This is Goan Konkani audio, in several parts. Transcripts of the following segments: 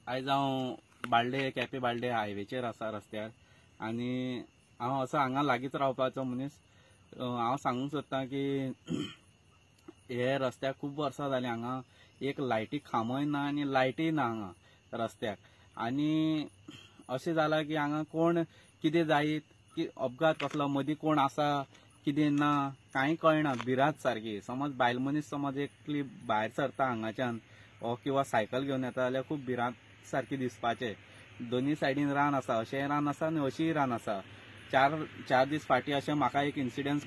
आयज हांव बाळ्ळे केपें बाळ्ळे हायवेचेर आसा रस्त्यार आनी हांव असो हांगा लागींच रावपाचो मनीस. हांव सांगूंक सोदतां की हे रस्त्याक खूब वर्सां जालीं हांगा एक लायटी खांबोय ना आनी लायटीय ना हांगा रस्त्याक. आनी अशें जालां की हांगा कोण कितें जायत की अपघात कसलो मदीं कोण आसा कितें ना कांय कळना. भिरांत सारकी. समज बायल मनीस समज एकली भायर सरता हांगाच्यान ओ किंवा सायकल घेवन येता जाल्यार खूब भिरांत सारकी दिसपाचें. दोनी सायडीन रान आसा, अशेंय रान आसा आनी अशीय रान आसा. चार दीस फाटीं अशें म्हाका एक इन्सिडंट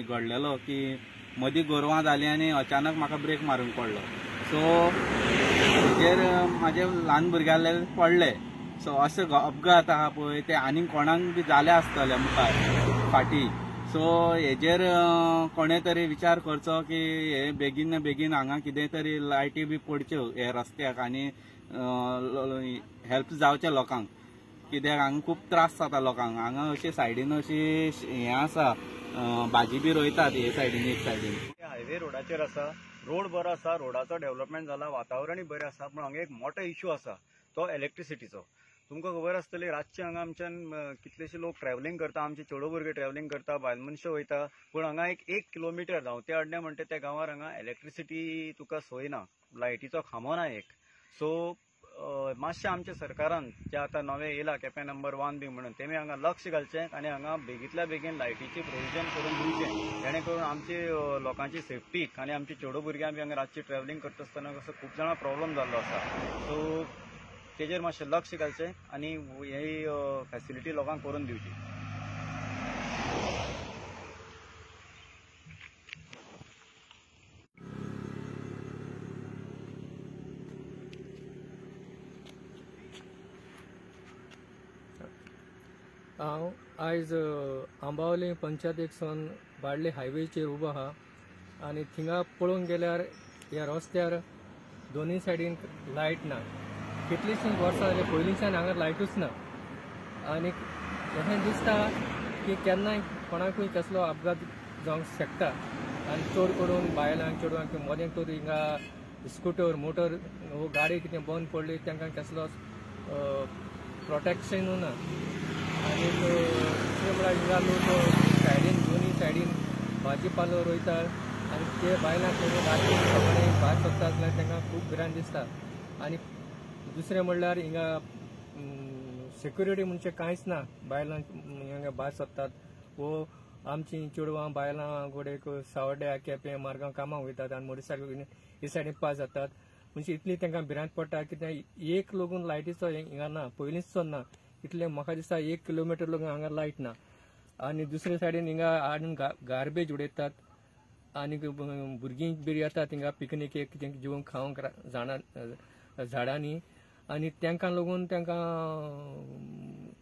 घडलेलो की मदीं गोरवां जालीं आनी अचानक म्हाका ब्रेक मारूंक पडलो. सो हेजेर म्हाजे ल्हान भुरग्याले पडले. सो अशे अपघात आहा पळय ते आनीक कोणाक बी जाले आसतले मुखार फाटीं. सो हेजेर कोणे तरी विचार करचो की हे बेगीन बेगीन हांगा कितें तरी लायटी बी पडच्यो हे रस्त्याक आनी हेल्प जावचें लोकांक. कित्याक हांगा खूब त्रास जाता लोकांक. हांगा अशे सायडीन अशी हें आसा भाजी बी रोयतात हे सायडीन एक सायडीन. हायवे रोडाचेर आसा, रोड बरो आसा, रोडाचो डेव्हलपमेंट जाला, वातावरणूय बरें आसा, पूण हांगा एक मोठो इश्यू आसा तो इलेक्ट्रिसिटीचो. तुमकां खबर आसतली रातचे हांगा आमच्यान कितलेशे लोक ट्रॅव्हलिंग करता, आमचे चेडो भुरगे ट्रॅव्हलिंग करता, बायल मनशां वयता, पूण हांगा एक किलोमिटर धांवते अड्डे म्हणटा त्या गांवार हांगा इलेक्ट्रिसिटी तुका सोय ना, लायटीचो खांबो ना एक. सो मातशें आमच्या सरकारान जे आतां नवें येयला केपें नंबर 1 बी म्हणून तेमी हांगा लक्ष घालचें आनी हांगा बेगींतल्या बेगीन लायटीचें प्रोविजन करून दिवचें, जेणे करून आमची लोकांची सेफ्टीक आनी आमची चेडो भुरग्यां बी हांगा रातची ट्रॅव्हलिंग करता आसतना कसो खूब जाणां प्रॉब्लम जाल्लो आसा. सो तेजेर मातशें लक्ष घालचें आनी ही फॅसिलिटी लोकांक करून दिवची. हांव आयज आंबावले पंचायतीक सावन बाळ्ळे हायवेचेर उबो आहा आनी थिंगा पळोवंक गेल्यार ह्या रस्त्यार दोनूय सायडीन लायट ना. कितलींशीं वर्सां जालीं पयलींच्यान हांगा लायटूच ना आनी अशें दिसता की केन्नाय कोणाकूय कसलो अपघात जावंक शकता. आनी चड करून बायलांक चेडवांक मदें तर हिंगा स्कुटर मोटर वो गाडी कितें बंद पडली तांकां कसलोच प्रोटेक्शनूय ना. आनी दुसरें म्हळ्यार हिंगा लोक सायडीन दोनूय सायडीन भाजी पालो रोयतात आनी ते बायलांक राती सकाळीं भायर सरता जाल्यार तांकां खूब भिरांत दिसता. आनी दुसरें म्हणल्यार हिंगा सेक्युरिटी म्हणजे कांयच ना. बायलांक हिंगा भायर सरतात वो आमची चेडवां बायलां गोडेक सावड्ड्या केपें मार्गां कामाक वयतात आनी मोटरसायकल हे सायडीन पास जातात. म्हणजे इतली तांकां भिरांत पडटा कित्याक एक लोगून लायटीचो हिंगा ना, पयलींच ना. इतलें म्हाका दिसता 1 किलोमिटर लोक हांगा लायट ना. आनी दुसरे सायडीन हिंगा हाडून गार्बेज उडयतात आनी भुरगीं बी येतात हिंगा पिकनिकेक कितें जेवण खावंक झाडांनी आनी तांकां लागून तांकां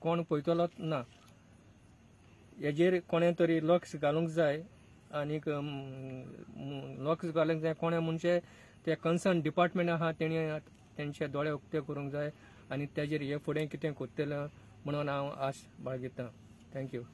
कोण पळयतलोच ना. हेजेर कोणें तरी लक्ष घालूंक जाय आनीक लक्ष घालूंक जाय कोणें म्हणजे ते कन्सर्न डिपार्टमेंट आहा तेणी तेंचे दोळे उक्ते करूंक जाय आनी तेजेर हे फुडें कितें करतलें म्हणून हांव आश बाळगितां. Thank you.